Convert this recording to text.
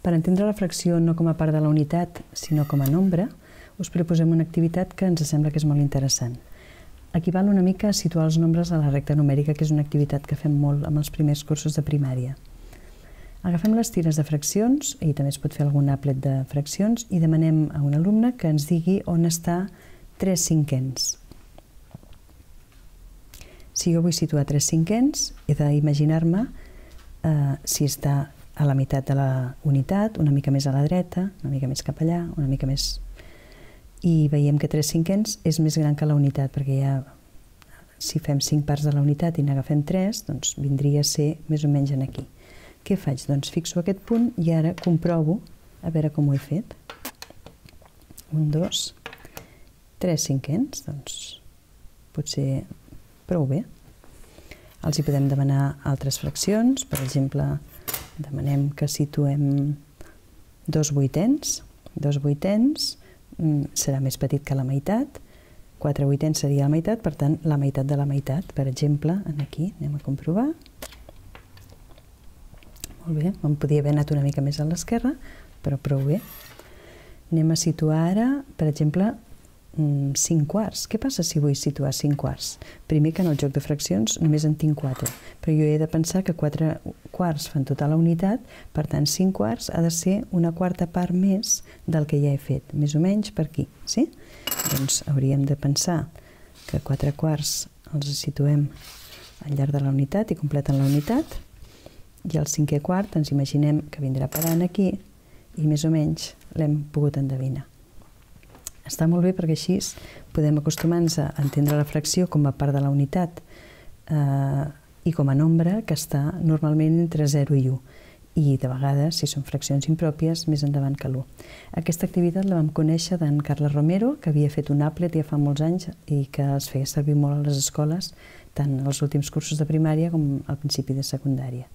Per entendre la fracció no com a part de la unitat, sinó com a nombre, us proposem una activitat que ens sembla que és molt interessant. Equival una mica a situar els nombres a la recta numèrica, que és una activitat que fem molt amb els primers cursos de primària. Agafem les tires de fraccions, i també es pot fer algun applet de fraccions, i demanem a un alumne que ens digui on està 3/5. Si jo vull situar 3/5, he d'imaginar-me si està a la meitat de la unitat, una mica més a la dreta, una mica més cap allà, una mica més... I veiem que 3/5 és més gran que la unitat, perquè ja, si fem 5 parts de la unitat i n'agafem 3, doncs vindria a ser més o menys aquí. Què faig? Doncs fixo aquest punt i ara comprovo, a veure com ho he fet. 1, 2, 3/5, doncs potser prou bé. Els hi podem demanar altres fraccions, per exemple, demanem que situem 2/8. 2/8 serà més petit que la meitat, 4/8 seria la meitat, per tant, la meitat de la meitat. Per exemple, aquí, anem a comprovar. Molt bé, em podia haver anat una mica més a l'esquerra, però prou bé. Anem a situar ara, per exemple, 5/4. Què passa si vull situar 5/4? Primer que en el joc de fraccions només en tinc 4, però jo he de pensar que 4/4 fan tota la unitat, per tant 5/4 ha de ser una quarta part més del que ja he fet, més o menys per aquí, sí? Doncs hauríem de pensar que 4/4 els situem al llarg de la unitat i completen la unitat, i el 5/4 ens imaginem que vindrà parant aquí i més o menys l'hem pogut endevinar. Està molt bé perquè així podem acostumar-nos a entendre la fracció com a part de la unitat i com a nombre que està normalment entre 0 i 1. I de vegades, si són fraccions impròpies, més endavant que l'1. Aquesta activitat la vam conèixer d'en Carles Romero, que havia fet un applet ja fa molts anys i que es feia servir molt a les escoles, tant als últims cursos de primària com al principi de secundària.